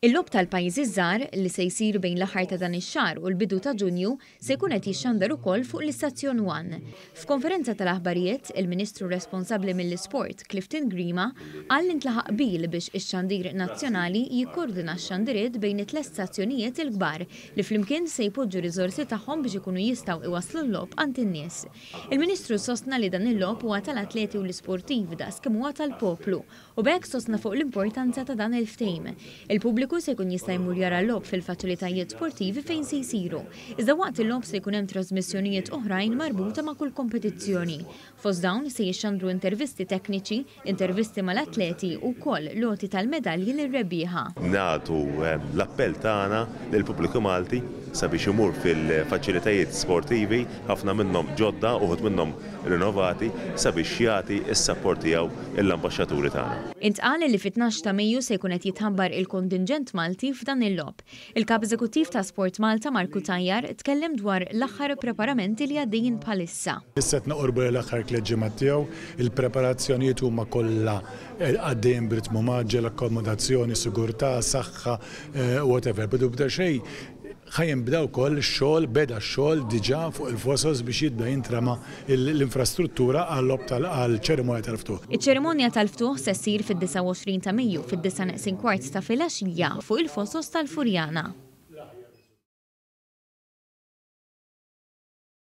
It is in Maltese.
Il-Logħob tal-Pajjiżi ż-Żgħar, li se jsir bejn l-aħħar ta' dan ix-xahar u l-bidu ta' Ġunju, se jkun qed jixxandar ukoll fuq l-istazzjon One. F'konferenza tal-aħbarijiet, il-Ministru responsabbli mill-Isport, Clifton Grima, qal li ntlaħaq qbil biex ix-xandir nazzjonali jikkordina x-xandiriet bejn it-tliet stazzjonijiet il-kbar li flimkien se jpoġġu riżorsi tagħhom biex ikunu jistgħu iwasslu l-logħob għand in-nies. Il-Ministru sostna li dan il-logħob huwa tal-atleti u l-isportivi daqs kemm huwa tal-poplu U b'hekk sostna fuq l-importanza ta' dan il-ftehim. Il-pubbliku se jkun jista' jmur jara l-logħob fil-faċilitajiet sportivi fejn se jsiru. Iżda waqt il-logħob se jkun hemm trasmissjonijiet oħrajn marbuta ma' kull kompetizzjoni. Fost dawn se jixxandru intervisti tekniċi, intervisti mal-atleti u wkoll l-għoti tal-medalji lir-rebbieħa. Nagħtu l-appell tagħna lill-pubbliku Malti sabiex imur fil-faċilitajiet sportivi, ħafna minnhom ġodda, uħud minnhom rinnovati, sabiex jagħti s-sapport tiegħu l-ambaxxaturi tagħna. Intqal li fit-tnax ta' Mejju se jkun qed jitħabbar il-kontinġent Malti f'dan il-logħob. Il-Kap Eżekuttiv ta' Sport Malta Mark Cutajar tkellem dwar l-aħħar preparamenti li għaddejjin bħalissa. Issa qed noqorbu lejn l-aħħar tliet ġimgħat tiegħu, il-preparazzjonijiet huma kollha għaddejjin b'ritmu mgħaġġel, akkomodazzjoni, sigurtà, saħħa, whatever. Bidu bda xejn, Ħa jinbda wkoll ix-xogħol, beda x-xogħol diġà fuq il-fosos biex jibda jintrema l-infrastruttura għal-logħob tal għall-ċerimonja tal-ftuħ. Iċ-ċerimonja tal-ftuħ se ssir fid-29 ta' Mejju fid-disgħa neqsin kwart ta' filgħaxija fuq il-fosos tal-Furjana.